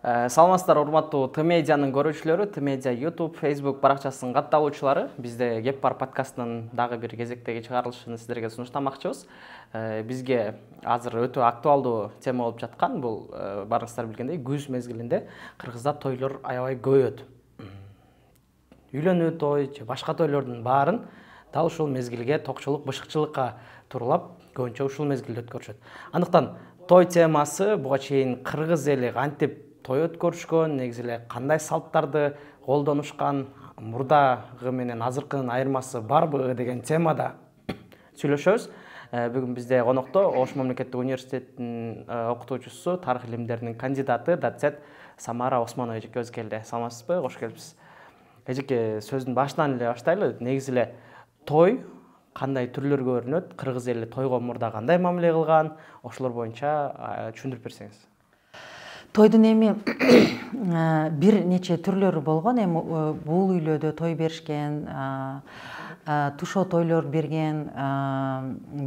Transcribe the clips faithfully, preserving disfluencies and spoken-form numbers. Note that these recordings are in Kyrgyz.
Саламатсыздар, урматтуу Т медианын көрүүчүлөрү, Т медиа YouTube, Facebook баракчасынын катталуучулары. Бизде Кеп бар подкастынын дагы бир кезектеги чыгарылышын сиздерге сунуштамакчыбыз. Бизге азыр өтө актуалдуу тема болуп жаткан бул барыңыздар билгендей күз мезгилинде Кыргызда тойлор аябай көбөйөт. Үйлөнүү той же башка тойлордун баарын дал ушул мезгилге токчулук, бышыкчылыкка тууралап көбүнчө ушул мезгилде өткөрүшөт. Андыктан той темасы буга чейин кыргыз эли кантип той өткөрүшкөн, негизи эле кандай салттарды колдонушкан, мурдагы менен азыркынын айырмасы барбы деген темада сүйлөшөбүз. Бүгүн бизде конокто Ош мамлекеттик университетинин окутуучусу, тарых илимдеринин кандидаты, доцент Самара Осмонова эжекебиз келди. Саламатсызбы? Кош келипсиз. Эжеке, сөздүн башынан эле баштайлы. Негизи эле той кандай түрлөргө бөлүнөт, кыргыз эли тойго мурда кандай мамиле кылган, ошолор боюнча түшүндүрүп берсеңиз. Тойдун эми бир нече түрлөрү болгон. Эми бул үйлөдө той беришкен, тушоо тойлор берген,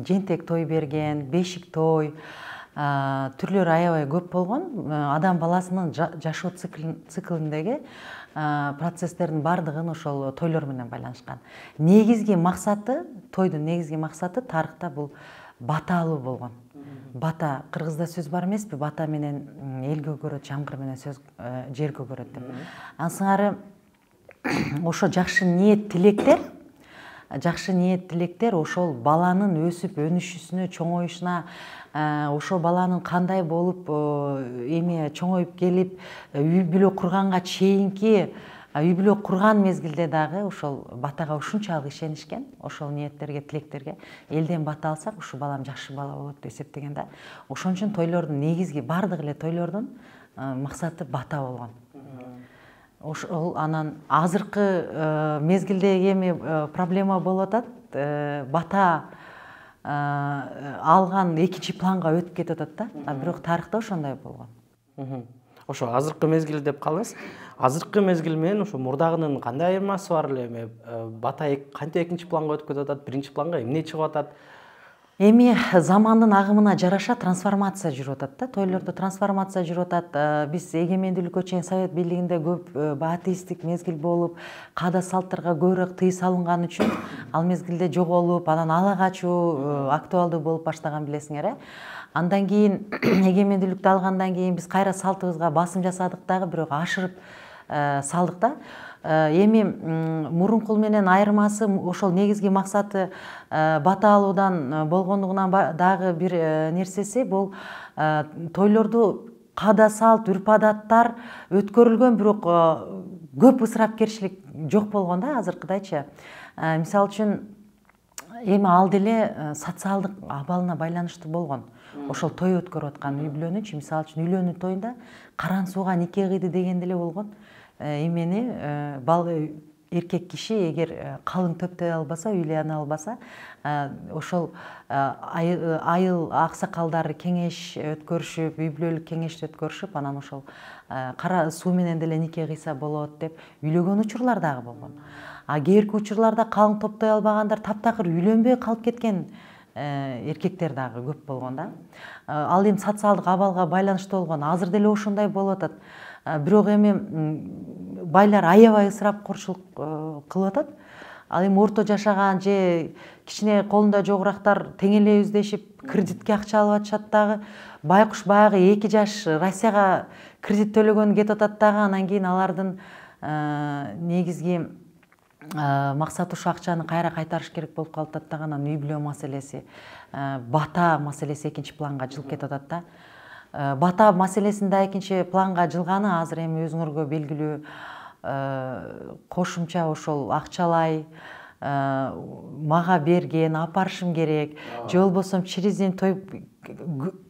жентек той берген, бешик той түрлөрү аябай көп болгон. Адам баласынын жашоо циклиндеги процесстердин бардыгын ошол тойлор менен байланышкан. Негизги максаты, тойдун негизги максаты тарыхта бул бата алуу болгон. Бата, кыргызда сөз бар эмеспи? Бата менен эл көгөрөт, жамгыр менен сөз жер көгөрөт деп. Ансыңары ошо жакшы ниет тилектер, жакшы ниет тилектер ошол баланын өсүп өнүшүсүнө, чоңоюшуна, ошо баланын кандай болуп эми чоңоюп келип үй бүлө курганга чейинки үй бүлө курган мезгилде дагы ошол батага ушунчалык ишенишкен, ошол ниеттерге, тилектерге элден бата алсак, ушу балам жакшы бала болот деп эсептеген да. Ошон үчүн тойлордун негизги бардык эле тойлордун максаты бата болгон. Ошол анан азыркы мезгилдеги эми проблема болуп атат, бата алган экинчи планга өтүп кетип атат да. А бирок тарыхта ошондой болгон. Ошо азыркы мезгил деп калыңыз. Азыркы мезгил менен ошо мурдагынын кандай айырмасы бар эле? Эми бата кантип экинчи планга өтүп кетип атат, биринчи планга эмне чыгып атат? Эми замандын агымына жараша трансформация жүрүп атат да. Тойлордо трансформация жүрүп атат. Биз эгемендүүлүккө чейин Совет бийлигинде көп атеисттик мезгил болуп, каада салттарга көбүрөөк тыюу салынган үчүн ал мезгилде жоголуп, анан ала качуу актуалдуу болуп баштаган билесиңер, э? Андан кийин эгемендүүлүктү алгандан кийин биз кайра салтыбызга басым жасадык дагы, бирок ашырып салдык да. Эми мурунку менен айырмасы ошол негизги максаты бата алуудан болгондугунан дагы бир нерсеси бул тойлорду каада салт, үрп-адаттар өткөрүлгөн, бирок көп ысырапкерчилик жок болгон да азыркыдайчы. Мисалы үчүн эми ал деле социалдык абалына байланыштуу болгон. Ошол той өткөрүп аткан үй бүлөнүчү, мисалы үчүн үйлөнүү тоюнда каран сууга нике кыйды деген деле болгон. Эмени эркек киши эгер калың төптөй албаса, үйлөнө албаса, ошол айыл аксакалдары кеңеш өткөрүшүп, үй бүлөлүк кеңешти өткөрүшүп, анан ошол кара суу менен деле нике кыйса болот деп үйлөгөн учурлар дагы болгон. А кээрки учурларда калың топтой албагандар таптакыр үйлөнбөй калып кеткен эркектер дагы көп болгон да. Ал эми социалдык абалга байланыштуу болгон. Азыр деле ошондой болуп атат. Бирок эми байлар аябай ысырапкорчулук кылып атат. Ал эми орто жашаган же кичине колунда жогурактар тең эле издешип кредитке акча алып атышат дагы. Байкуш баягы эки жаш Россияга кредит төлөгөн кетип атат дагы. Анан кийин алардын негизги максаты ушу акчаны кайра кайтарыш керек болуп калып атат дагы. Анан үй бүлө маселеси, бата маселеси экинчи планга жылып кетип атат да. Бата маселесин да экинчи планга жылганы азыр эми өзүңөргө белгилүү кошумча ошол акчалай мага берген, апарышым керек, же болбосо через день той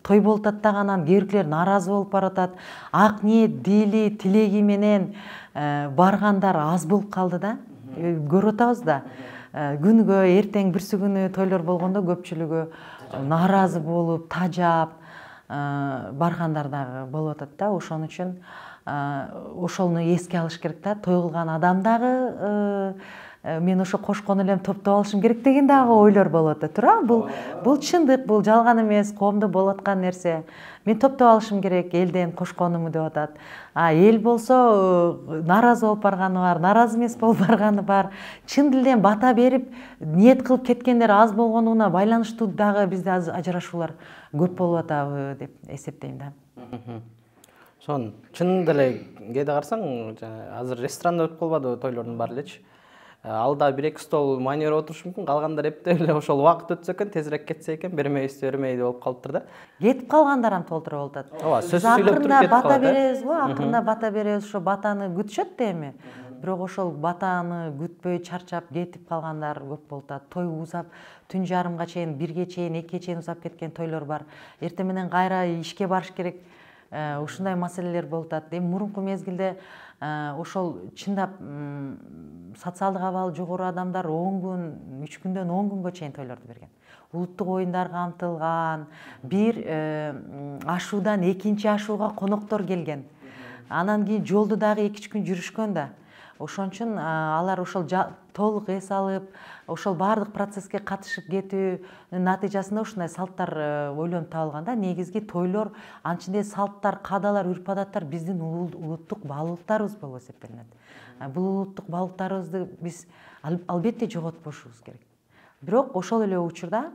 той болуп атат дагы, анан кээбиркилер нааразы болуп баратат. Ак ниет, дили, тилеги менен баргандар аз болуп калды да. Көрүп атабыз да. Күнгө, эртең бүрсү күнү тойлор болгондо көпчүлүгү нааразы болуп, тажап баргандар дагы болуп атат да. Ошон үчүн ошону эске алыш керек да. Той кылган адам дагы мен ошо кошкон элем топтоп алышым керек деген дагы ойлор болот да, туура. Бул бул чындык, бул жалган эмес, коомдо болуп аткан нерсе. Мен топтоп алышым керек элден кошконуму деп атат. А эл болсо нааразы болуп барганы бар, нааразы эмес болуп барганы бар. Чын дилден бата берип, ниет кылып кеткендер аз болгонуна байланыштуу дагы бизде ажырашуулар көп болуп атабы деп эсептейм да. Сон чын деле кээде карасаң, азыр ресторанда өтүп калбадыбы тойлордун баары элечи. Алда бир эки стол майнер отурушу мүмкүн, калгандар эптеп эле ошол убакыт өтсө экен, тезирээк кетсе экен, бермейбизби, бермейди болуп калыптыр да. Кетип калгандар ам толтура болуп атат. Ооба, сөз сүйлөп туруп кетип калат. Бата беребиз го, акырында бата беребиз, ошо батаны күтүшөт да эми. Бирок ошол батаны күтпөй чарчап кетип калгандар көп болуп атат. Той узап, түн жарымга чейин, бирге чейин, экиге чейин узап кеткен тойлор бар. Эртең менен кайра ишке барыш керек. Ушундай маселелер болуп атат. Эми мурунку мезгилде ошол чындап социалдык абалы жогору адамдар он күн, үч күндөн он күнгө чейин тойлорду берген. Улуттук оюндар камтылган, бир ашуудан экинчи ашууга коноктор келген. Анан кийин жолду дагы эки үч күн жүрүшкөн да. Ошон үчүн алар ошол толук эс алып, ошол баардык процесске катышып кетүүнүн натыйжасында ушундай салттар ойлонуп табылган да. Негизги тойлор, анчынде салттар, каадалар, үрп-адаттар биздин улуттук баалуулуктарыбыз болуп эсептелинет. Бул улуттук баалуулуктарыбызды биз албетте жоготпошубуз керек. Бирок ошол эле учурда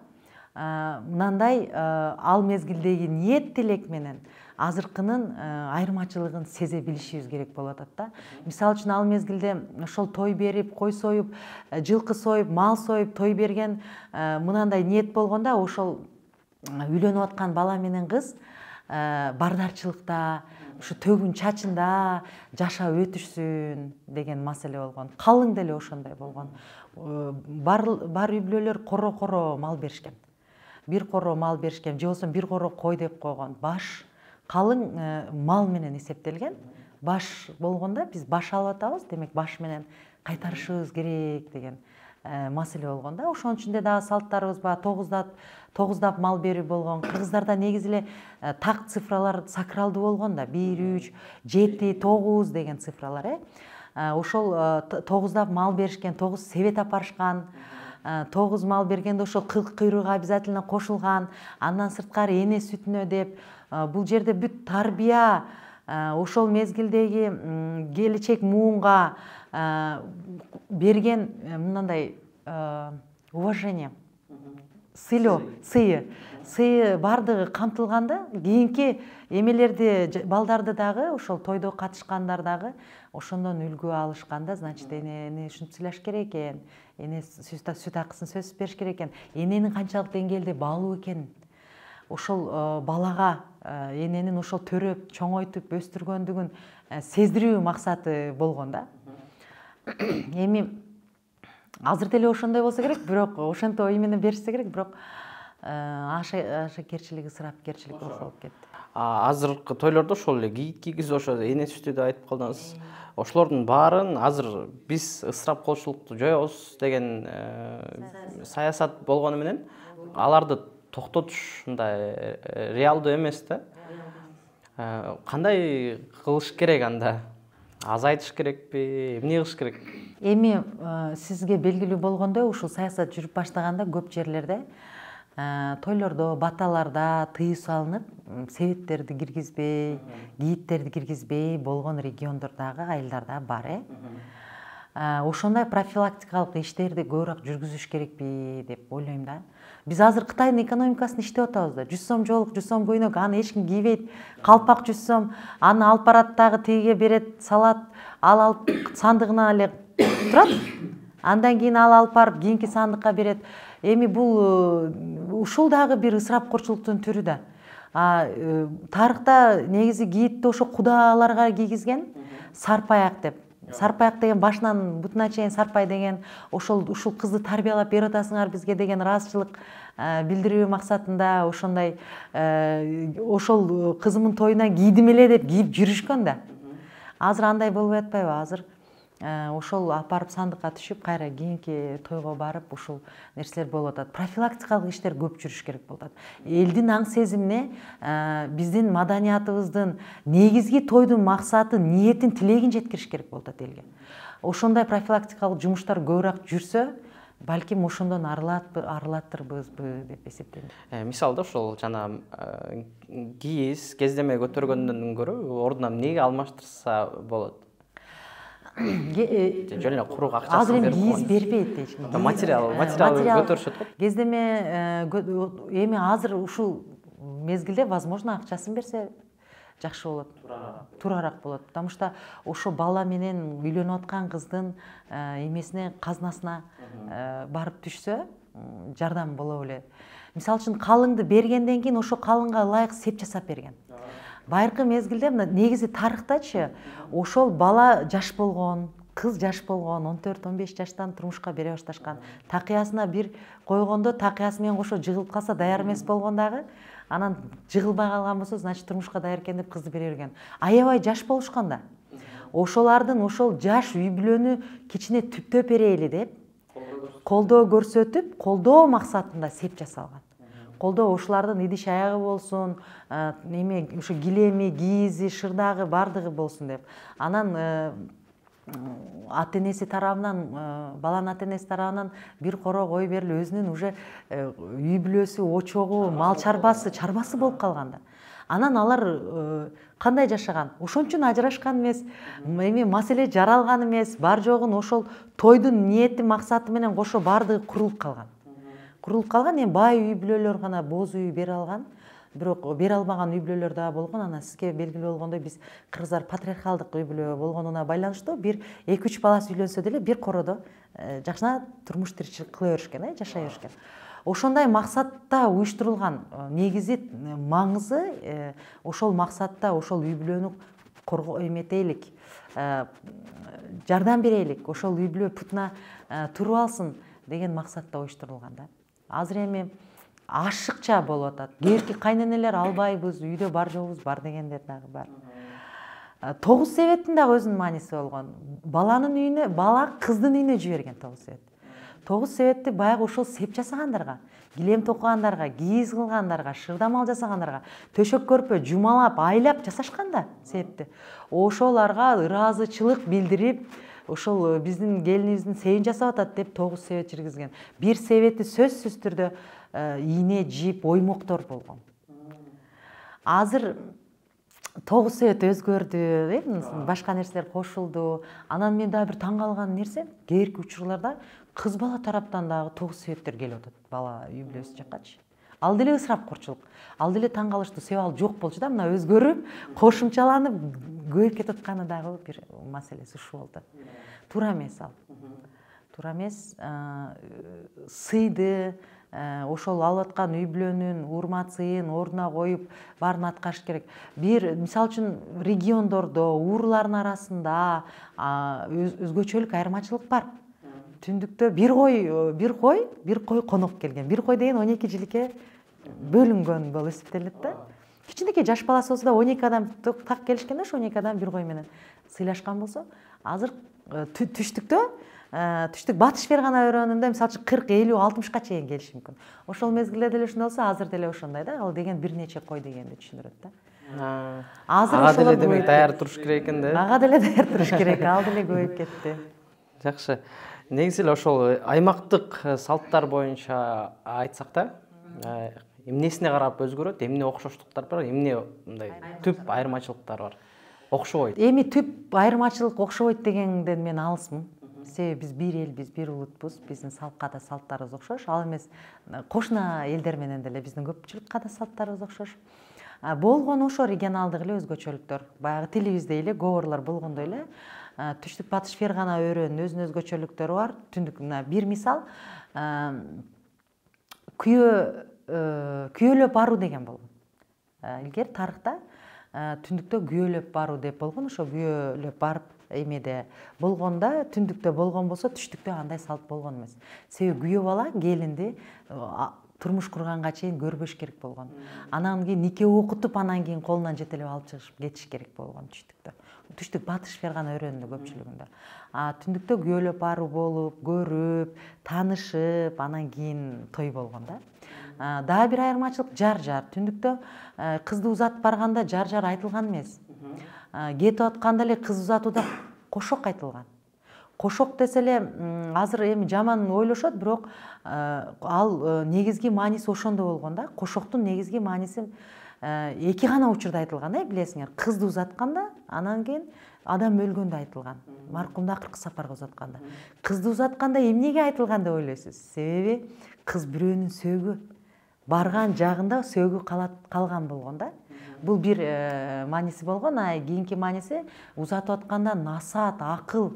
мынандай ал мезгилдеги ниет тилек менен азыркынын айырмачылыгын сезе билишибиз керек болуп атат да. Мисалы үчүн ал мезгилде ошол той берип, кой союп, жылкы союп, мал союп, той берген мынандай ниет болгондо ошол үйлөнүп аткан бала менен кыз бардарчылыкта, ушу төгүн чачында жашап өтүшсүн деген маселе болгон. Калың деле ошондой болгон. Бар бар үй бүлөлөр коро-коро мал беришкен. Бир коро мал беришкен, же болбосо бир коро кой деп койгон. Баш калың мал менен эсептелген. Баш болгондо биз баш алып атабыз, демек баш менен кайтарышыбыз керек деген маселе болгон да. Ошонун ичинде дагы салттарыбыз бар, тогуздап тогуздап мал берүү болгон. Кыргыздарда негизи эле так цифралар сакралдуу болгон да. бир, үч, жети, тогуз деген цифралар, э. Ошол тогуздап мал беришкен, тогуз себет апарышкан. Тогуз мал бергенде ошол кыл кыйрыгы обязательно кошулган. Андан сырткары эне сүтүнө деп, бул жерде бүт тарбия, ошол мезгилдеги келечек муунга берген мындай уважение, сыйлоо, сыйы, сыйы бардыгы камтылганда, кийинки эмелерди, балдарды дагы ошол тойдо катышкандар дагы ошондон үлгү алышканда, значит, энени ушинтип сыйлаш керек экен, эне сүт акысын сөзсүз бериш керек экен, эненин канчалык деңгээлде баалуу экенин, ошол балага эненин ошол төрөп, чоңойтуп, өстүргөндүгүн сездирүү максаты болгон да. Эми азыр деле ошондой болсо керек, бирок ошентип ой менен беришсе керек, бирок ашакерчилик, ысырапкерчилик болуп кетти. Азыркы тойлордо ошол эле кийит кийгизип, ошо эне сүтү деп айтып калдыңыз. Ошолордун баарын азыр биз ысырап кылуучулукту жоебуз деген саясат болгону менен аларды токтотуш мындай реалдуу эмес да. Кандай кылыш керек анда? Азайтыш керекпи, эмне кылыш керек? Эми сизге белгилүү болгондой, ушул саясат жүрүп баштаганда көп жерлерде тойлордо, баталарда тыюу салынып, себеттерди киргизбей, кийиттерди киргизбей болгон региондор дагы, айылдар дагы бар, э. Ошондой профилактикалык иштерди көбүрөөк жүргүзүш керекпи деп ойлойм да. Биз азыр Кытайдын экономикасын иштеп атабыз да. жүз сом жолук, жүз сом көйнөк, аны эч ким кийбейт. Калпак жүз сом, аны алып барат дагы тигиге берет, салат, ал алып сандыгына эле турат. Андан кийин ал алып барып кийинки сандыкка берет. Эми бул ушул дагы бир ысырапкорчулуктун түрү да. Тарыхта негизи кийитти ошо кудаларга кийгизген, сарпаяк деп. Сарпаяк деген башынан бутуна чейин сарпай деген, ошол ушул кызды тарбиялап берип атасыңар бизге деген ыраазычылык билдирүү максатында ошондой ошол кызымдын тоюна кийдим эле деп кийип жүрүшкөн да. Азыр андай болбой атпайбы? Азыр ошол апарып сандыкка түшүп кайра кийинки тойго барып ушул нерселер болуп атат. Профилактикалык иштер көп жүрүш керек болуп атат. Элдин аң сезимине, биздин маданиятыбыздын негизги тойдун максаты, ниетин, тилегин жеткириш керек болуп атат элге. Ошондой профилактикалык жумуштар көбүрөөк жүрсө, балким ошондон арылаттырбызбы деп эсептейм. Мисалда ошол жана кийиз, кездеме көтөргөндөн көрө ордуна эмнеге алмаштырса болот? Жөн эле курук акчасын берип кийиз бербейт эч ким. Материал, материал көтөрүшөт го. Кездеме эми азыр ушул мезгилде возможно акчасын берсе жакшы болот. Турараак болот. Потому что ошо бала менен үйлөнүп аткан кыздын эмесине, казнасына барып түшсө, жардам боло билет. Мисалы үчүн калыңды бергенден кийин ошо калыңга ылайык сеп жасап берген. Байыркы мезгилде негизи тарыхтачы ошол бала жаш болгон, кыз жаш болгон, он төрт он беш жаштан турмушка бере башташкан. Такыясына бир койгондо такыясы менен кошо жыгылып калса даяр эмес болгон дагы, анан жыгылбай калган болсо, значит турмушка даяр экен деп кызды бере берген. Аябай жаш болушкан да. Ошолардын ошол жаш үй бүлөнү кичине түптөп берели деп колдоо көрсөтүп, колдоо максатында сеп жасалган. Колдоо ушулардын идиш аягы болсун, эме ушу килеми, кийизи, шырдагы бардыгы болсун деп. Анан ата-энеси тарабынан, баланын ата-энеси тарабынан бир коро кой берилип, өзүнүн уже үй бүлөсү, очогу, мал чарбасы, чарбасы болуп калган да. Анан алар кандай жашаган? Ошон үчүн ажырашкан эмес, эми маселе жаралган эмес, бар жогун ошол тойдун ниети, максаты менен кошо бардыгы курулуп калган. Курулуп калган, эми бай үй бүлөлөр гана боз үй бере алган, бирок бере албаган үй бүлөлөр да болгон. Анан сизге белгилүү болгондой, биз кыргыздар патриархалдык үй бүлө болгонуна байланыштуу бир эки үч баласы үйлөнсө деле бир кородо жакшына турмуш тиричилик кыла беришкен, жашай беришкен. Ошондой максатта уюштурулган. Негизи маңызы ошол максатта ошол үй бүлөнү коргоо эметейлик, жардам берейлик, ошол үй бүлө путуна туруп алсын деген максатта уюштурулган да. Азыр эми ашыкча болуп атат. Кээки кайненелер албайбыз, үйдө бар жогубуз бар дегендер дагы бар. Тогуз себеттин дагы өзүнүн мааниси болгон. Баланын үйүнө, бала кыздын үйүнө жиберген тогуз себет. Тогуз себетти баягы ошол сеп жасагандарга, килем токугандарга, кийиз кылгандарга, шырдамал жасагандарга, төшөк көрпө жумалап, айлап жасашкан да себепти. Ошоларга ыраазычылык билдирип, ошол биздин келинибиздин себин жасап атат деп тогуз себет жиргизген. Бир себети сөзсүз түрдө ийне, жип, оймоктор болгон. Азыр тогуз себет өзгөрдү, башка нерселер кошулду. Анан мен дагы бир таң калган нерсе, кээки учурларда кыз бала тараптан дагы тогуз себеттер келип атат бала үй бүлөсү жаккачы. Ал деле ысырапкорчулук. Ал деле таң калыштуу, себеби ал жок болчу да, мына өзгөрүп, кошумчаланып көбөйүп кетип атканы дагы бир маселеси ушул болду. Туура эмес ал. Туура эмес. Сыйды, ошол алып аткан үй бүлөнүн урмат сыйын ордуна коюп, баарын аткарыш керек. Бир, мисалы үчүн, региондордо, урлардын арасында өзгөчөлүк айырмачылык бар. Түндүктө бир кой, бир кой, бир кой конок келген. Бир кой деген он эки жиликке бөлүнгөн болуп эсептелет да. Кичинекей жаш баласы болсо да он эки адам так келишкен да, ошо он эки адам бир кой менен сыйлашкан болсо, азыр түштүктө, түштүк батыш фергана өрөөнүндө мисалы үчүн кырк, элүү, алтымышка чейин келиши мүмкүн. Ошол мезгилде деле ошондой болсо, азыр деле ошондой да. Ал деген бир нече кой дегенди түшүндүрөт да. Азыр ага деле демек даяр туруш керек экен да. Ага деле даяр туруш керек, ал деле көбөйүп кетти. Жакшы. Негизи эле ошол аймактык салттар боюнча айтсак да, эмнесине карап өзгөрөт, эмне окшоштуктар бар, эмне мындай түп айырмачылыктар бар? Окшобойт. Эми түп айырмачылык окшобойт дегенден мен алысмын. Себеби биз бир элбиз, бир улутпуз, биздин салт каада салттарыбыз окшош. Ал эмес кошуна элдер менен деле биздин көпчүлүк каада салттарыбыз окшош. Болгон ошо регионалдык эле өзгөчөлүктөр. Баягы тилибизде эле говорлор болгондой эле түштүк батыш фергана өрөөнүнүн өзүнүн өзгөчөлүктөрү бар. Түндүк мына бир мисал, күйөө күйөөлөп баруу деген болгон. Илгери тарыхта түндүктө күйөөлөп баруу деп болгон. Ошо күйөөлөп барып эмеде болгондо, түндүктө болгон болсо, түштүктө андай салт болгон эмес. Себеби күйөө бала келинди турмуш курганга чейин көрбөш керек болгон. Анан кийин нике окутуп, анан кийин колунан жетелеп алып чыгышып кетиш керек болгон түштүктө. түштүк батыш фергана өрөөнүндө көпчүлүгүндө. А түндүктө күбөлөп баруу болуп, көрүп, таанышып, анан кийин той болгон да. Дагы бир айырмачылык жар-жар. Түндүктө кызды узатып барганда жар-жар айтылган эмес. Кетип атканда эле кыз узатууда кошок айтылган. Кошок десе эле азыр эми жаман ойлошот, бирок ал негизги мааниси ошондо болгон да. Кошоктун негизги мааниси эки гана учурда айтылган да, билесиңер. Кызды узатканда, анан кийин адам өлгөндө айтылган. Маркумду акыркы сапарга узатканда. Кызды узатканда эмнеге айтылган деп ойлойсуз? Себеби кыз бирөөнүн сөөгү барган жагында сөөгү калган болгон да. Бул бир мааниси болгон, а кийинки мааниси узатып атканда насаат, акыл,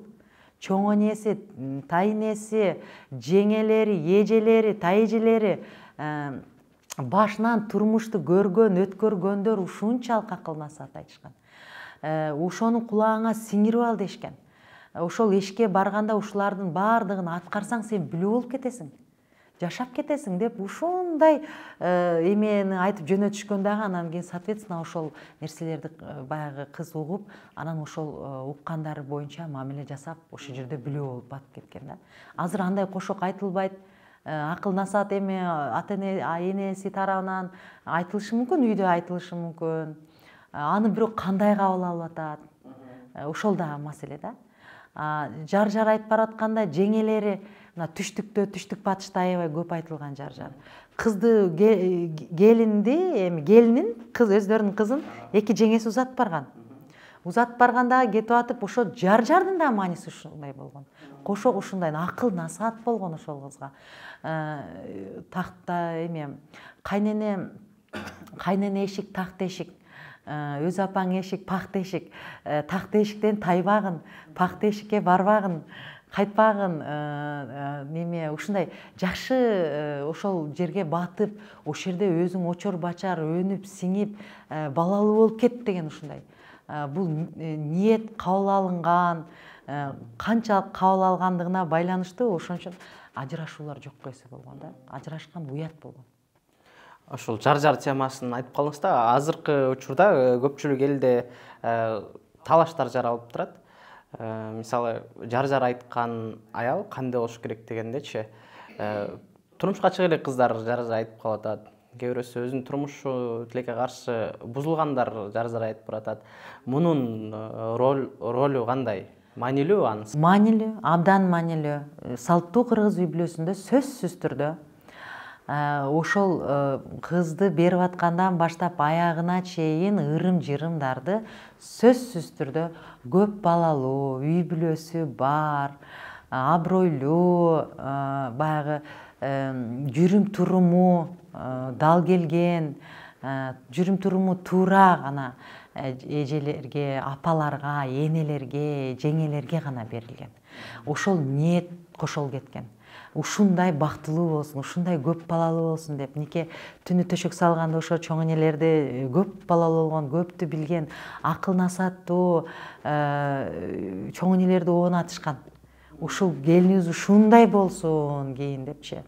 чоң энеси, тайнеси, жеңелери, эжелери, тайэжелери башынан турмушту көргөн, өткөргөндөр ушунчалык акыл насаат айтышкан. Ошону кулагыңа сиңирип ал дешкен. Ошол эшикке барганда ушулардын баардыгын аткарсаң сен билүү болуп кетесиң, жашап кетесиң деп ушундай эмени айтып жөнөтүшкөн дагы. Анан кийин соответственно ошол нерселерди баягы кыз угуп, анан ошол уккандары боюнча мамиле жасап, ошол жерде билүү болуп батып кеткен да. Азыр андай кошок айтылбайт. Акыл насаат эми ата энеси тарабынан айтылышы мүмкүн, үйдө айтылышы мүмкүн. Аны бирок кандай кабыл алып атат? Ошол дагы маселе да. Жар-жар айтып баратканда жеңелери мына түштүктө, түштүк батышта аябай көп айтылган жар-жар. Кызды келинди, эми келинин кыз өздөрүнүн кызын эки жеңеси узатып барган. Узатып барганда кетип атып, ошо жар-жардын да мааниси ушундай болгон. Кошок ушундай акыл насаат болгон ошол кызга. Такта эме кайнене кайнене эшик, такта эшик. Өз апаң эшик, пакта эшик. Такта эшиктен тайбагын, пакта эшикке барбагын, кайтпагын, неме ушундай жакшы ошол жерге батып, ошол жерде өзүң очор бачар, өнүп, сиңип, балалуу болуп кет деген ушундай. Бул ниет кабыл алынган, канчалык кабыл алгандыгына байланыштуу, ошон үчүн ажырашуулар жокко эсе болгон да. Ажырашкан уят болгон. Ошол жар-жар темасын айтып калдыңыз да, азыркы учурда көпчүлүк элде талаштар жаралып турат. Мисалы, жар-жар айткан аял кандай болуш керек дегендечи, турмушка чыга элек кыздар жар-жар айтып калып атат. Кээ бирөөсү өзүнүн турмушу тилекке каршы бузулгандар жар-жар айтып баратат. Мунун ролу кандай? Маанилүү анысы? Маанилүү, абдан маанилүү. Салттуу кыргыз үй бүлөсүндө сөзсүз түрдө ошол кызды берип аткандан баштап аягына чейин ырым-жырымдарды сөзсүз түрдө көп балалуу, үй бүлөсү бар, абройлуу, баягы жүрүм туруму дал келген, жүрүм туруму туура гана эжелерге, апаларга, энелерге, жеңелерге гана берилген. Ошол ниет кошол кеткен. Ушундай бактылуу болсун, ушундай көп балалуу болсун деп, нике түнү төшөк салганда ошо чоң энелерди көп балалуу болгон, көптү билген, акыл насааттуу чоң энелерди оонатышкан. Ушул келинибиз ушундай болсун кийин депчи.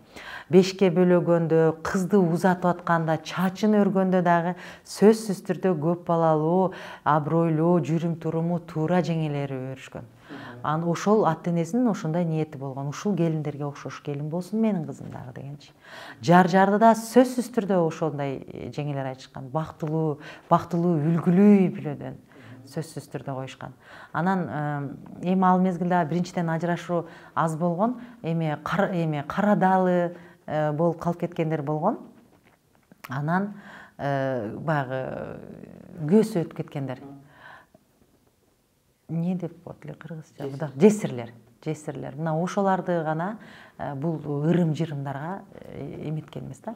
Бешке бөлөгөндө, кызды узатып атканда, чачын өргөндө дагы сөзсүз түрдө көп балалуу, абройлуу, жүрүм туруму туура жеңелери өрүшкөн. Аны ошол ата энесинин ошондой ниети болгон. Ушул келиндерге окшош келин болсун менин кызым дагы дегенчи. Жар-жарды да сөзсүз түрдө ошондой жеңелер айтышкан. Бактылуу, бактылуу, үлгүлүү үй бүлөдөн сөзсүз түрдө коюшкан. Анан эми ал мезгилде биринчиден ажырашуу аз болгон, эми эми карадалы болуп калып кеткендер болгон. Анан баягы көсү өтүп кеткендер. Не деп болот эле кыргызча? Жесирлер, жесирлер. Мына ошоларды гана бул ырым-жырымдарга эметкен эмес да,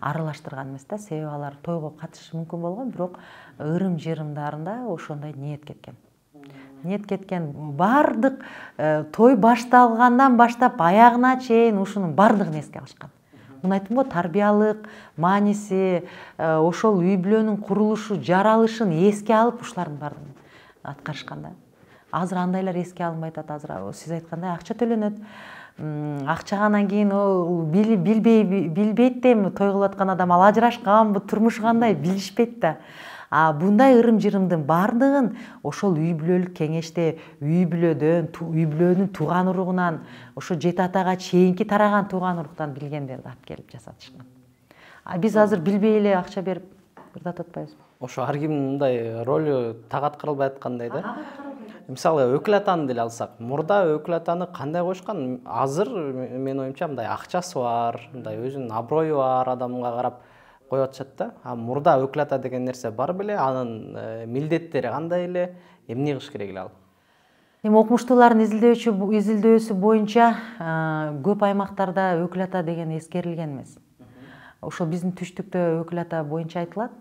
аралаштырган эмес да. Себеби алар тойго катышышы мүмкүн болгон, бирок ырым-жырымдарында ошондой ниет кеткен. Ниет кеткен. Бардык той башталгандан баштап аягына чейин ушунун бардыгын эске алышкан. Муну айттым го, тарбиялык мааниси, ошол үй бүлөнүн курулушу, жаралышын эске алып ушулардын бардыгын аткарышкан да. Азыр андайлар эске алынбай атат. Азыр сиз айткандай акча төлөнөт. Акчаганан кийин билбей билбейт да, эми той кылып аткан адам ал ажырашканбы, турмушу кандай билишпейт да. А мындай ырым-жырымдын баардыгын ошол үй бүлөлүк кеңеште үй бүлөдөн, үй бүлөнүн тууган уругунан, ошо жети атага чейинки тараган тууган уруктан билгендерди алып келип жасатышкан. А биз азыр билбей эле акча берип ырдатып атпайбызбы? Ошо ар кимдин мындай ролу так аткарылбай аткандай да. Мисалы өкүл атаны деле алсак, мурда өкүл атаны кандай коюшкан? Азыр менин оюмча мындай акчасы бар, мындай өзүнүн аброю бар адамга карап коюп атышат да. А мурда өкүл ата деген нерсе бар беле, анын милдеттери кандай эле, эмне кылыш керек эле ал? Эми окумуштуулардын изилдөөчү изилдөөсү боюнча көп аймактарда өкүл ата деген эскерилген эмес. Ошол биздин түштүктө өкүл ата боюнча айтылат.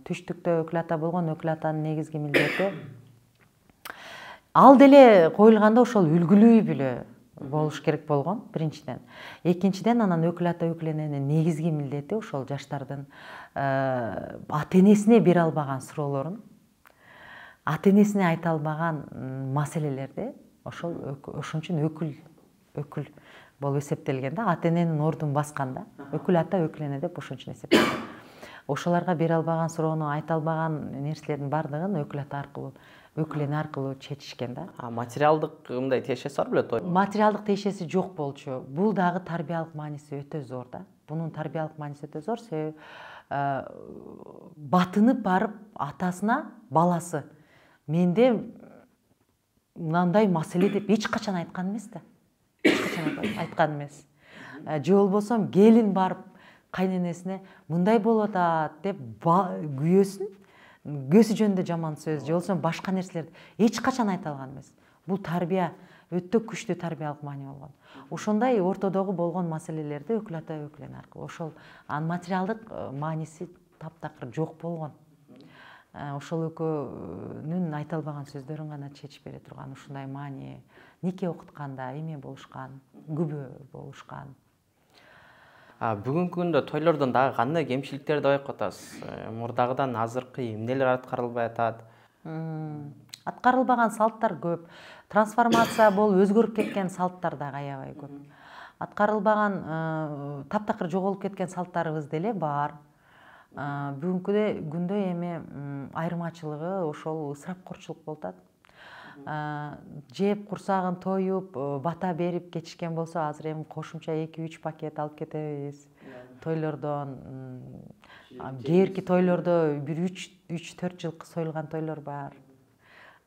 Түштүктө өкүл ата болгон өкүл атанын негизги милдети ал деле коюлганда ошол үлгүлүү үй бүлө болуш керек болгон биринчиден. Экинчиден анан өкүл ата өкүл эненин негизги милдети ошол жаштардын ата энесине бере албаган суроолорун, ата энесине айта албаган маселелерди ошол ошон үчүн өкүл өкүл болуп эсептелген да. Ата эненин ордун басканда өкүл ата өкүл эне деп ошон үчүн эсептелген. Ошолорго бере албаган суроону, айта албаган нерселердин баардыгын өкүл ата аркылуу, өкүл эне аркылуу чечишкен да. А материалдык мындай тиешеси бар беле той? Материалдык тиешеси жок болчу. Бул дагы тарбиялык мааниси өтө зор да. Бунун тарбиялык мааниси өтө зор, себеби батынып барып атасына баласы менде мындай маселе деп эч качан айткан эмес да. Эч качан айткан эмес. Же болбосо келин барып кайненесине мындай болуп атат деп күйөөсүн, күйөөсү жөнүндө жаман сөз, же болбосо башка нерселерди эч качан айта алган эмес. Бул тарбия өтө күчтүү тарбиялык маани болгон. Ошондой ортодогу болгон маселелерди өкүл ата өкүл эне аркылуу ошол анын материалдык мааниси таптакыр жок болгон. Ошол экөөнүн айта албаган сөздөрүн гана чечип бере турган ушундай маани. Нике окутканда эме болушкан, күбө болушкан. А бүгүнкү күндө тойлордон дагы кандай кемчиликтерди байкап атасыз? Мурдагыдан азыркы эмнелер аткарылбай атат? Аткарылбаган салттар көп. Трансформация болуп өзгөрүп кеткен салттар дагы аябай көп. Аткарылбаган, таптакыр жоголуп кеткен салттарыбыз деле бар. Бүгүнкү күндө эми айырмачылыгы ошол ысырапкорчулук болуп атат. Жеп курсагын тоюп, бата берип кетишкен болсо, азыр эми кошумча эки үч пакет алып кетебиз тойлордон. Кээерки тойлордо бир үч төрт жылкы союлган тойлор бар.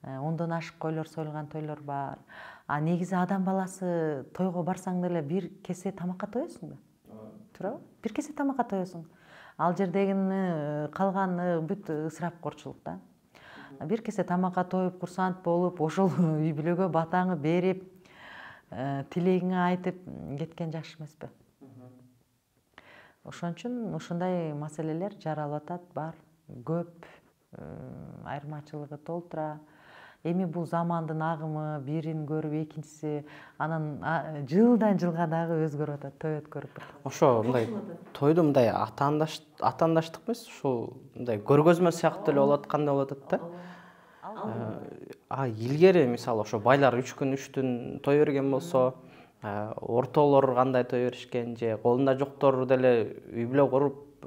Ондон ашык койлор союлган тойлор бар. А негизи адам баласы тойго барсаң деле бир кесе тамакка тоесуң да. Туурабы? Бир кесе тамакка тоесуң. Ал жердегини калганы бүт ысырапкорчулук да. Бир кесе тамакка тоюп, курсант болуп, ошол үй бүлөгө батаңы берип, тилегиңи айтып кеткен жакшы эмеспи? Ошон үчүн ушундай маселелер жаралып атат, бар, көп, айырмачылыгы толтура. Эми бул замандын агымы, бирин көрүп экинчиси, анан жылдан жылга дагы өзгөрүп атат, той өткөрүп. Ошо мындай тойдо мындай атаандаштык эмес, ушул мындай көргөзмө сыяктуу эле болуп аткандай болуп атат да. А илгери мисалы ошо байлар үч күн үч түн той берген болсо, ортолор кандай той беришкен, же колунда жоктор деле үй бүлө куруп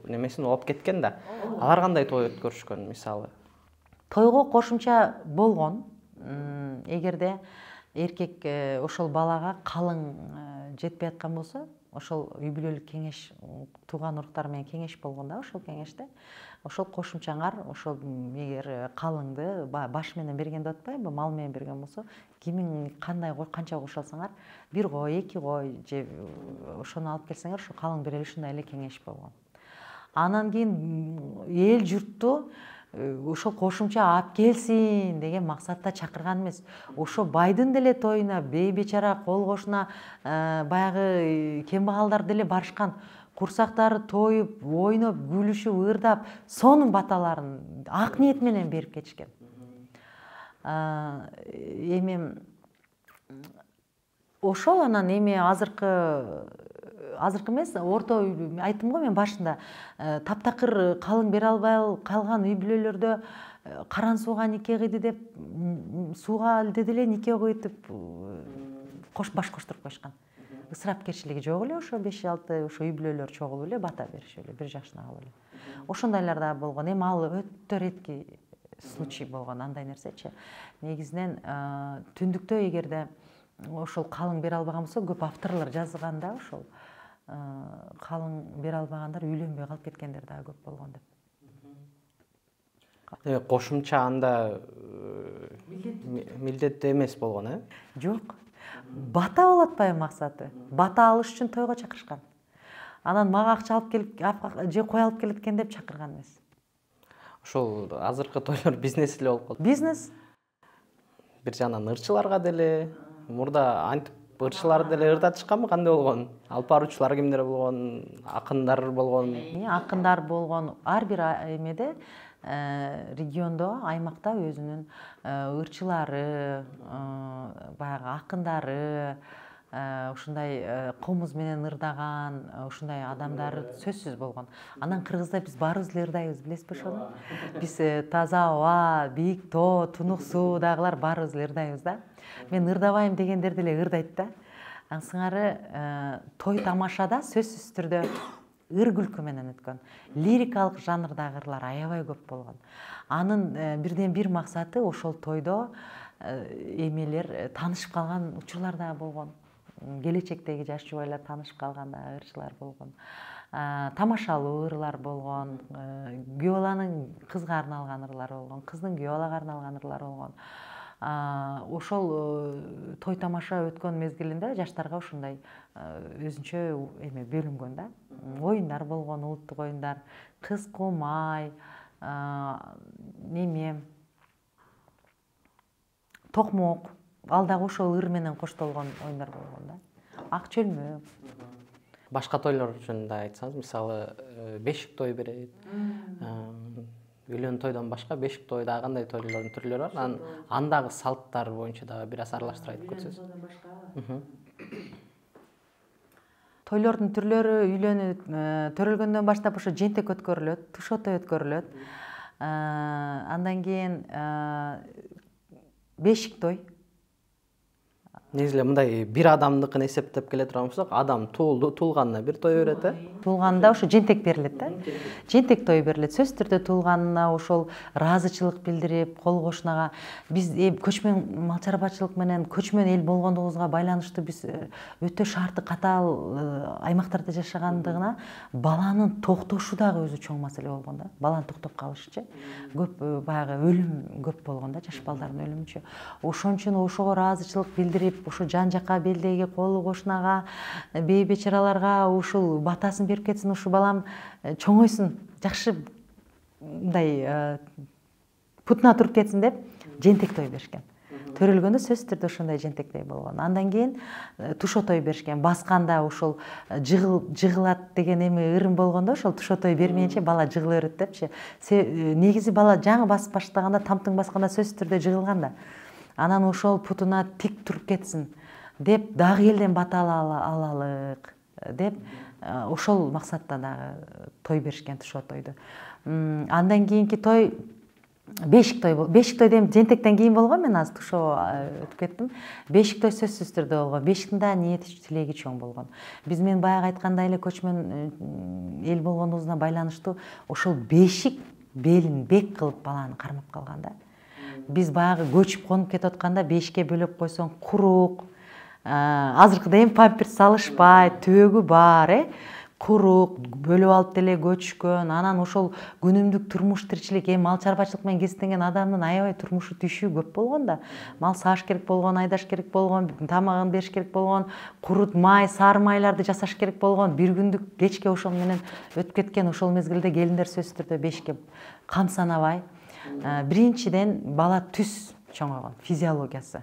немесин алып кеткен да. Алар кандай той өткөрүшкөн мисалы? Тойго кошумча болгон. Эгерде эркек ошол балага калың жетпей аткан болсо, ошол үй бүлөлүк кеңеш, тууган уруктар менен кеңеш болгон да, ошол кеңеште. Ошол кошумчаңар, ошол эгер калыңды баш менен берген деп атпайбы, мал менен берген болсо, кимиң кандай кой, канча кошо алсаңар, бир кой, эки кой же ошону алып келсеңер, ошо калың берели, ушундай эле кеңеш болгон. Анан кийин эл журтту ошол кошумча алып келсин деген максатта чакырган эмес. Ошо байдын деле тоюна бей бечара кол кошуна баягы кембагалдар деле барышкан. Курсактары тоюп, ойноп, күлүшүп, ырдап, сонун баталарын ак ниет менен берип кетишкен. Эми ошол анан эми азыркы азыркы эмес, орто айттым го мен башында, таптакыр калың бере албай калган үй бүлөлөрдө каран сууга нике кыйды деп, сууга элде деле нике кыйтып кош баш коштуруп коюшкан. ысырапкерчилиги жок эле, ошо беш алты ошо үй бүлөлөр чогулуп эле бата беришип эле бир жашына алып эле. Ошондойлор да болгон. Эми ал өтө ретки случай болгон андай нерсечи. Негизинен түндүктө эгерде ошол калың бере албаган болсо, көп авторлор жазганда ошол калың бере албагандар үйлөнбөй калып кеткендер дагы көп болгон деп. Кошумча анда милдеттүү эмес болгон, э? Жок. Бата болот атпайбы максаты? Бата алыш үчүн тойго чакырышкан. Анан мага акча алып келип же кой алып келет экен деп чакырган эмес. Ошол азыркы тойлор бизнес эле болуп калды. Бизнес. Бир жагынан ырчыларга деле, мурда антип ырчылар деле ырдатышканбы, кандай болгон? Алып баруучулар кимдер болгон? Акындар болгон? Акындар болгон. Ар бир эмеде региондо, аймакта өзүнүн ырчылары, баягы акындары, ушундай комуз менен ырдаган, ушундай адамдар сөзсүз болгон. Анан Кыргызда биз баарыбыз эле ырдайбыз, билесизби ошону? Биз таза аба, бийик тоо, тунук суу дагылар баарыбыз эле ырдайбыз да. Мен ырдабайм дегендер деле ырдайт да. Ансыңары той тамашада сөзсүз түрдө ыр күлкү менен өткөн. Лирикалык жанрдагы ырлар аябай көп болгон. Анын бирден бир максаты ошол тойдо эмелер таанышып калган учурлар дагы болгон. Келечектеги жаш жубайлар таанышып калган дагы ырчылар болгон. Тамашалуу ырлар болгон. Күйөө баланын кызга арналган ырлар болгон. Кыздын күйөө балага арналган ырлар болгон. Ошол той тамаша өткөн мезгилинде жаштарга ушундай өзүнчө эме бөлүнгөн да. Оюндар болгон, улуттук оюндар, кыз кумай, неме, токмок, ал дагы ошол ыр менен коштолгон оюндар болгон да. Ак чөлмө. Башка тойлор үчүн да айтсаңыз, мисалы, бешик той берет. Үйлөн тойдон башка бешик тойда кандай тойлордун түрлөрү бар? Анан андагы салттар боюнча дагы бир аз аралаштырып айтып кетсеңиз. Тойлордун түрлөрү үйлөнүп төрөлгөндөн баштап ошо жентек өткөрүлөт, тушо той өткөрүлөт. Андан кийин бешик той. Негизи эле мындай бир адамдыкын эсептеп келе турган болсок, адам туулду, туулганына бир той берет, э? Туулганда ошо жентек берилет да. Жентек той берилет. Сөзсүз түрдө туулганына ошол ыраазычылык билдирип, кол кошунага биз көчмөн мал чарбачылык менен көчмөн эл болгондугубузга байланыштуу биз өтө шарты катаал аймактарда жашагандыгына баланын токтошу дагы өзү чоң маселе болгон да. Баланын токтоп калышычы. Көп баягы өлүм көп болгон да, жаш балдардын өлүмүчү. Ошон үчүн ошого ыраазычылык билдирип, ошо жан жакка белдеги колу кошунага, бей бечараларга ушул батасын берип кетсин, ушу балам чоңойсун, жакшы мындай путуна туруп кетсин деп жентек той беришкен. Төрөлгөндө сөзсүз түрдө ошондой жентек той болгон. Андан кийин тушо той беришкен. Басканда ошол жыгылат деген эме ырым болгондо, ошол тушо той бермейинче бала жыгыла берет депчи. Негизи бала жаңы басып баштаганда, тамтың басканда сөзсүз түрдө жыгылган да. Анан ошол путуна тик туруп кетсин деп дагы элден бата алалык деп ошол максатта дагы той беришкен тушо тойду. Андан кийинки той бешик той болду. Бешик той дейм жентектен кийин болгон, мен азыр тушо өтүп кеттим. Бешик той сөзсүз түрдө болгон. Бешиктин да ниети тилеги чоң болгон. Биз мен баягы айткандай эле көчмөн эл болгондугубузга байланыштуу ошол бешик белин бек кылып баланы кармап калган да. Биз баягы көчүп конуп кетип атканда бешикке бөлөп койсоң курук, азыркыдай эми памперс салышпай, түбөгү бар, э? Курук, бөлүп алып деле көчкөн. Анан ошол күнүмдүк турмуш тиричилик, эми мал чарбачылык менен кесиптенген адамдын аябай турмушу түйшүү көп болгон да. Мал сааш керек болгон, айдаш керек болгон, тамагын бериш керек болгон, курут май, сары майларды жасаш керек болгон. Бир күндүк кечке ошол менен өтүп кеткен. Ошол мезгилде келиндер сөзсүз түрдө бешикке кам санабай. Биринчиден бала түз чоңойгон, физиологиясы.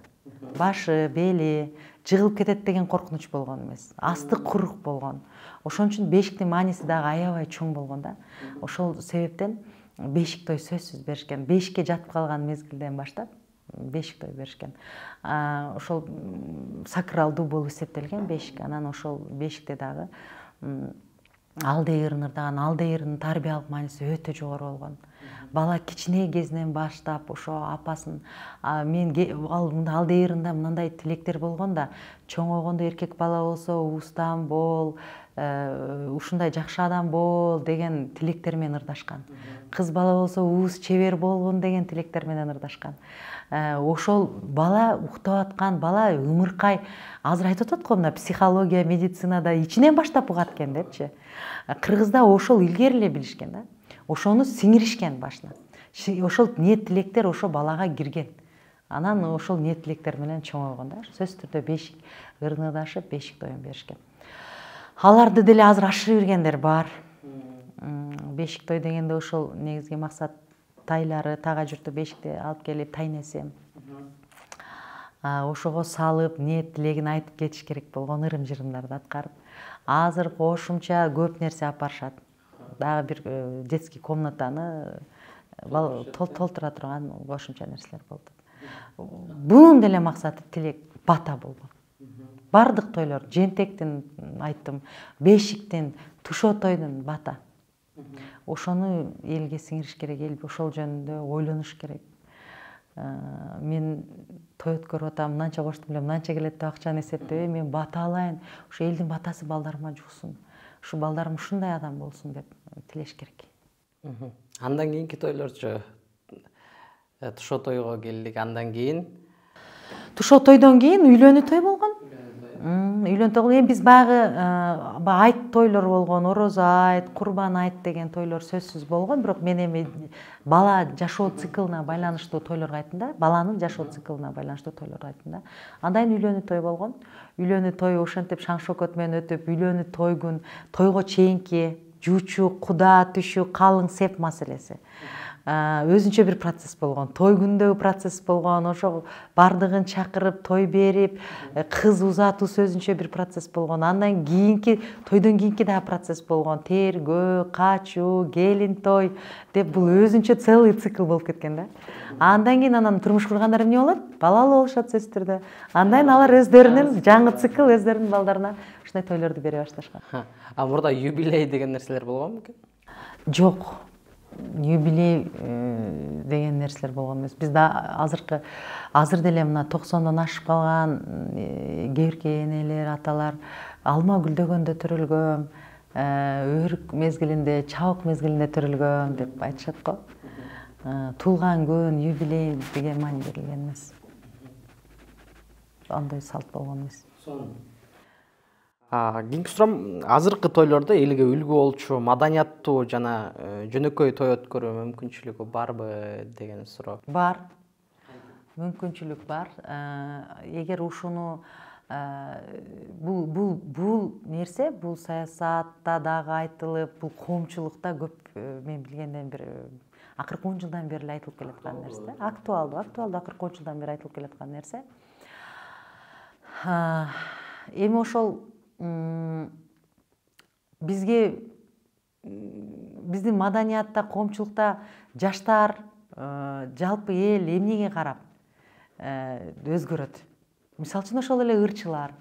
Башы, бели жыгылып кетет деген коркунуч болгон эмес. Асты курук болгон. Ошон үчүн бешиктин мааниси дагы аябай чоң болгон да. Ошол себептен бешик той сөзсүз беришкен. Бешикке жатып калган мезгилден баштап бешик той беришкен. Ошол сакралдуу болуп эсептелген бешик. Анан ошол бешикте дагы алдайырын ырдаган. Алдайырдын тарбиялык мааниси өтө жогору болгон. Бала кичине кезинен баштап ошо апасын мен ал мында алдайырында мындай тилектер болгон да, чоңойгондо эркек бала болсо устан бол, ушундай жакшы адам бол деген тилектер менен ырдашкан. Кыз бала болсо уус чебер болгон деген тилектер менен ырдашкан. Ошол бала уктап аткан, бала ымыркай, азыр айтып атат го, мына психология, медицинада ичинен баштап угат экен депчи. Кыргызда ошол илгери эле билишкен да. Ошону сиңиришкен башына. Ошол ниет тилектер ошо балага кирген. Анан ошол ниет тилектер менен чоңойгон да. Сөзсүз түрдө бешик ырнырдашып, бешик тоюн беришкен. Аларды деле азыр ашырып бергендер бар. Бешик той дегенде ошол негизги максат тайлары, тага журту бешикти алып келип тайнесем. Ошого салып, ниет тилегин айтып кетиш керек болгон ырым-жырымдарды аткарып. Азыр кошумча көп нерсе алып барышат. Дагы бир детский комнатаны толтура турган кошумча нерселер болуп атат. Бунун деле максаты тилек бата болгон. Бардык тойлор, жентектин айттым, бешиктин, тушоо тойдун бата. Ошону элге сиңириш керек, эл ошол жөнүндө ойлонуш керек. Мен той өткөрүп атам, мынанча коштум эле, мынанча келет деп акчаны эсептебей, мен бата алайын, ошо элдин батасы балдарыма жуксун. Ушу балдарым ушундай адам болсун деп тилеш керек. Андан кийинки тойлорчу, тушоо тойго келдик, андан кийин тушоо тойдон кийин үйлөнүү той болгон. Үйлөнүү той, эми биз баягы айт тойлор болгон, орозо айт, курбан айт деген тойлор сөзсүз болгон, бирок мен эми бала жашоо циклына байланыштуу тойлорго айттым да, баланын жашоо циклына байланыштуу тойлорго айттым да. Андан кийин үйлөнүү той болгон. Үйлөнүү той ошентип шаң шокот менен өтүп, үйлөнүү тойгун тойго чейинки жуучу, куда түшүү, калың сеп маселеси. Өзүнчө бир процесс болгон. Той күндөгү процесс болгон. Ошо бардыгын чакырып, той берип, кыз узатуу өзүнчө бир процесс болгон. Андан кийинки тойдон кийинки дагы процесс болгон. Тергөө, качуу, келин той деп бул өзүнчө целый цикл болуп кеткен да. Андан кийин анан турмуш кургандар эмне болот? Балалуу болушат сөзсүз түрдө. Андан кийин алар өздөрүнүн жаңы цикл, өздөрүнүн балдарына ушундай тойлорду бере башташкан. А мурда юбилей деген нерселер болгонбу экен? Жок. Юбилей деген нерселер болгон эмес. Бизде азыркы азыр деле мына токсондон ашып калган кээбирки энелер, аталар алма гүлдөгөндө төрөлгөм, өрүк мезгилинде, чабык мезгилинде төрөлгөм деп айтышат го. Туулган күн, юбилей деген маани берилген эмес. Андай салт болгон эмес. Кийинки суроом, азыркы тойлордо элге үлгү болчу, маданияттуу жана жөнөкөй той өткөрүү мүмкүнчүлүгү барбы деген суроо. Бар. Мүмкүнчүлүк бар. Эгер ушуну бул бул бул нерсе, бул саясатта дагы айтылып, бул коомчулукта көп мен билгенден бир акыркы он жылдан бери эле айтылып келаткан нерсе. Актуалдуу, актуалдуу акыркы он жылдан бери айтылып келаткан нерсе. Эми ошол бизге биздин маданиятта, коомчулукта жаштар, жалпы эл эмнеге карап өзгөрөт? Мисалы үчүн ошол эле ырчылар.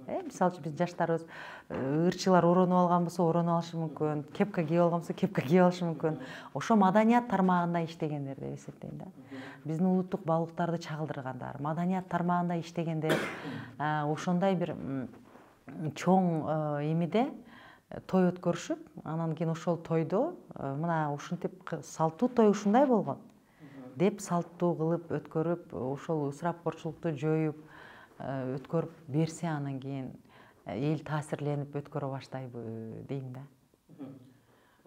Мисалы үчүн биз жаштарыбыз ырчылар оронуп алган болсо оронуп алышы мүмкүн, кепка кийип алган болсо кепка кийип алышы мүмкүн. Ошо маданият тармагында иштегендер деп эсептейм да. Биздин улуттук баалуулуктарды чагылдыргандар, маданият тармагында иштегендер, ошондой бир чоң эмеде той өткөрүшүп, анан кийин ошол тойдо мына ушинтип салттуу той ушундай болгон деп салттуу кылып өткөрүп, ошол ысырапкорчулукту жоюп өткөрүп берсе, анан кийин эл таасирленип өткөрө баштайбы дейм да.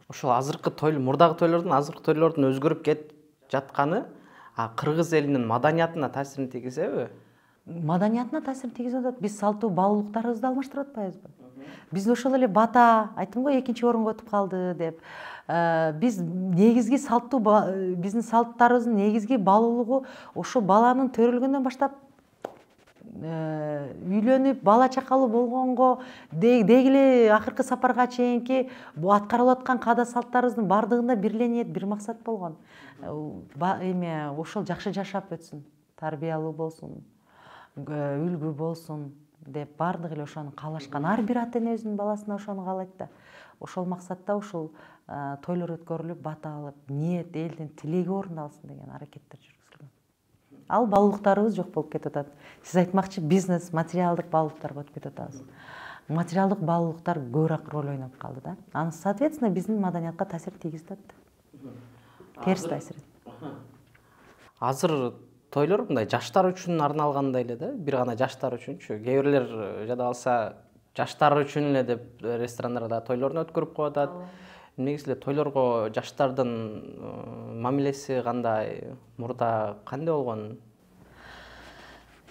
Ошол азыркы той, мурдагы тойлордон азыркы тойлордун өзгөрүп кетип жатканы кыргыз элинин маданиятына таасирин тийгизеби? Маданиятына таасирин тийгизип атат. Биз салттуу баалуулуктарыбызды алмаштырып атпайбызбы? Биз ошол эле бата, айттым го, экинчи орунга өтүп калды деп. Биз негизги салттуу биздин салттарыбыздын негизги баалуулугу ошо баланын төрөлгөндөн баштап үйлөнүп, бала чакалуу болгонго деги эле акыркы сапарга чейинки аткарылып аткан каада салттарыбыздын бардыгында бир эле ниет, бир максат болгон. Эме ошол жакшы жашап өтсүн, тарбиялуу болсун, үлгү болсун деп бардыгы эле ошону каалашкан. Ар бир ата эне өзүнүн баласына ошону каалайт да. ошол максатта ушул тойлор өткөрүлүп, бата алып, ниет, элдин тилеги орундалсын деген аракеттер жүргүзүлгөн. Ал баалуулуктарыбыз жок болуп кетип атат. Сиз айтмакчы, бизнес, материалдык баалуулуктарга өтүп кетип атабыз. Материалдык баалуулуктар көбүрөөк роль ойноп калды да. Аны, соответственно, биздин маданиятка таасир тийгизип атат. Терс таасир. Азыр тойлор мындай жаштар үчүн арналгандай эле да, бир гана жаштар үчүнчү. Кээ бирлер жада калса жаштар үчүн эле деп ресторандарда тойлорун өткөрүп коюп атат. Негизи эле тойлорго жаштардын мамилеси кандай, мурда кандай болгон?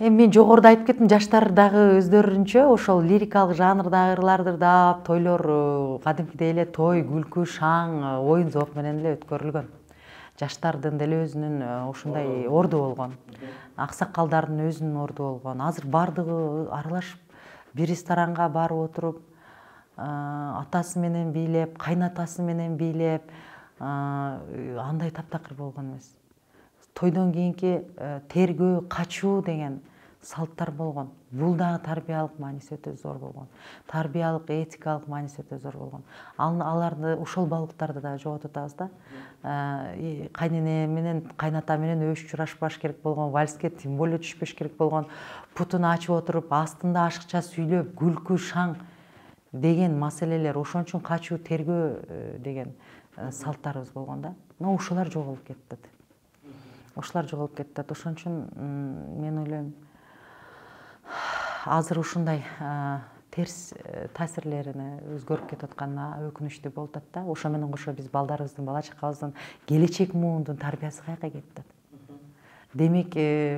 Эми мен жогоруда айтып кеттим, жаштар дагы өздөрүнчө ошол лирикалык жанрдагы ырларды дап, тойлор кадимкидей эле той, күлкү, шаң, оюн зоок менен эле өткөрүлгөн. Жаштардын деле өзүнүн ушундай орду болгон. Аксакалдардын өзүнүн орду болгон. Азыр бардыгы аралашып бир ресторанга барып отуруп, атасы менен бийлеп, кайнатасы менен бийлеп, андай таптакыр болгон эмес. Тойдон кийинки тергөө, качуу деген салттар болгон. Бул дагы тарбиялык мааниси өтө зор болгон. Тарбиялык, этикалык мааниси өтө зор болгон. Аларды, ошол баалуулуктарды дагы жоготуп атабыз да. Кайнене менен, кайната менен өбүшүп журашпаш керек болгон, вальске тем более түшпөш керек болгон, путун ачып отуруп, астында ашыкча сүйлөп, күлкү, шаң деген маселелер, ошон үчүн качуу, тергөө деген салттарыбыз болгон да. Но ошолор жоголуп кетти. Ошолор жоголуп кетти. Ошон үчүн мен ойлойм, азыр ушундай терс таасирлерине өзгөрүп кетип атканына өкүнүчтүү болуп атат да. Ошо менен кошо биз балдарыбыздын, бала чакабыздын келечек муундун тарбиясы каяка кетип атат. Демек,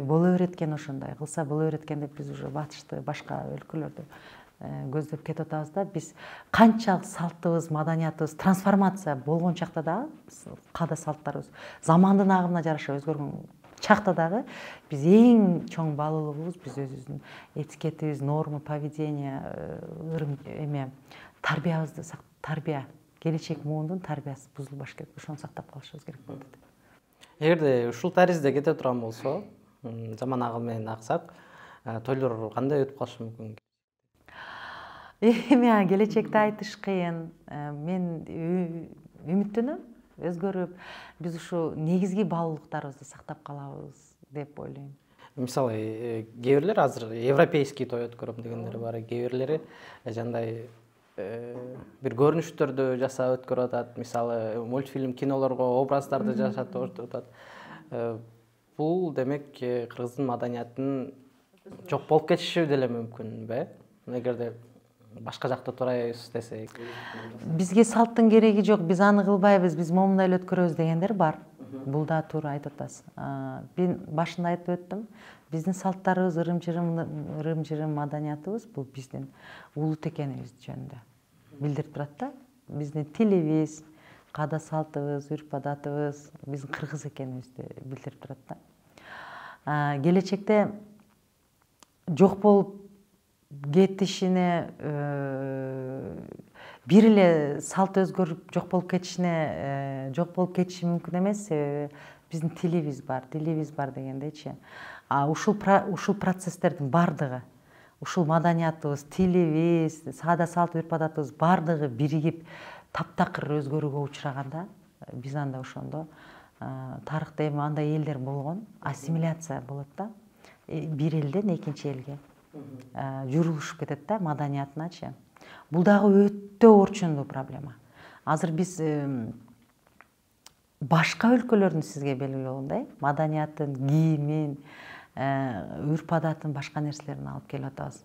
боло берет экен ошондой, кылса боло берет экен деп биз уже батышты, башка өлкөлөрдү көздөп кетип атабыз да. Биз канчалык салтыбыз, маданиятыбыз трансформация болгон чакта дагы, каада салттарыбыз замандын агымына жараша өзгөргөн чакта дагы биз эң чоң баалуулугубуз биз өзүбүздүн этикетибиз, норма поведения, ырым эме тарбиябызды, тарбия, келечек муундун тарбиясы бузулбаш керек. Ошону сактап калышыбыз керек болот. Эгерде ушул таризде кете турган болсо, заман агымы менен аксак, тойлор кандай өтүп калышы мүмкүн? Эми келечекти айтыш кыйын. Мен үмүттөнөм, өзгөрүп, биз ушу негизги баалуулуктарыбызды сактап калабыз деп ойлойм. Мисалы, кээ бирлер азыр европейский той өткөрөм дегендер бар, кээ бирлери жандай бир көрүнүштөрдү жасап өткөрүп атат. Мисалы, мультфильм, кинолорго образдарды жасатып өткөрүп атат. Бул демек кыргыздын маданиятынын жок болуп кетиши деле мүмкүнбү? Эгерде башка жакта турайбыз десек. Бизге салттын кереги жок, биз аны кылбайбыз, биз момундай эле өткөрөбүз дегендер бар. Бул да туура айтып атасыз. Мен башында айтып өттүм, биздин салттарыбыз, ырым-жырым, ырым-жырым маданиятыбыз бул биздин улут экенибиз жөнүндө билдирип турат да. Биздин тилибиз, каада салтыбыз, үрп-адатыбыз биздин кыргыз экенибизди билдирип турат да. Келечекте жок болуп кетишине, бир эле салт өзгөрүп жок болуп кетишине, жок болуп кетиши мүмкүн эмес, себеби биздин тилибиз бар, дилибиз бар дегендейчи. Ушул ушул процесстердин бардыгы, ушул маданиятыбыз, тилибиз, саада салт, үрп-адатыбыз бардыгы биригип таптакыр өзгөрүүгө учураганда, биз анда ошондо тарыхта эми андай элдер болгон, ассимиляция болот да. Бир элден экинчи элге жүрүлүшүп кетет да, маданиятыначы. Бул дагы өтө орчундуу проблема. Азыр биз башка өлкөлөрдүн сизге белгилүү болгондой маданиятын, кийимин, үрп-адатын, башка нерселерин алып келип атабыз.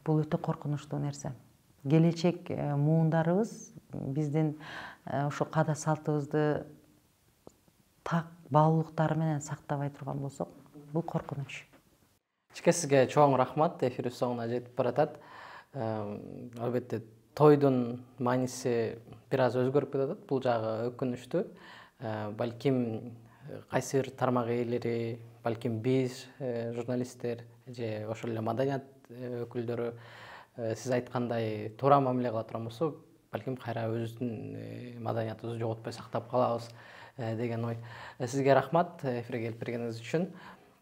Бул өтө коркунучтуу нерсе. Келечек муундарыбыз биздин ошо каада салтыбызды так баалуулуктары менен сактабай турган болсок, бул коркунуч. Чике сизге чоң рахмат, эфирибиз соңуна жетип баратат. Албетте тойдун мааниси бир аз өзгөрүп кетип атат, бул жагы өкүнүчтүү. Балким кайсы бир тармак ээлери, балким биз журналисттер же ошол эле маданият өкүлдөрү сиз айткандай туура мамиле кыла турган болсо, балким кайра өзүбүздүн маданиятыбызды жоготпой сактап калабыз деген ой. Сизге рахмат эфирге келип бергениңиз үчүн.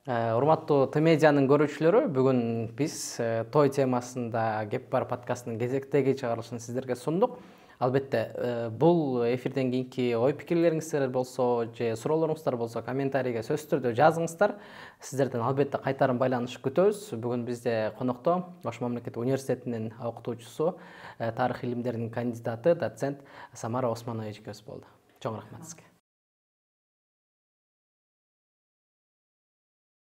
Урматтуу Т медианын көрүүчүлөрү, бүгүн биз той темасында Кеп бар подкастынын кезектеги чыгарылышын сиздерге сундук. Албетте, бул эфирден кийинки ой пикирлериңиздер болсо же суроолоруңуздар болсо комментарийге сөзсүз түрдө жазыңыздар. Сиздерден албетте кайтарым байланыш күтөбүз. Бүгүн бизде конокто Ош мамлекеттик университетинин окутуучусу, тарых илимдеринин кандидаты, доцент Самара Османова эжекебиз болду. Чоң рахмат сизге.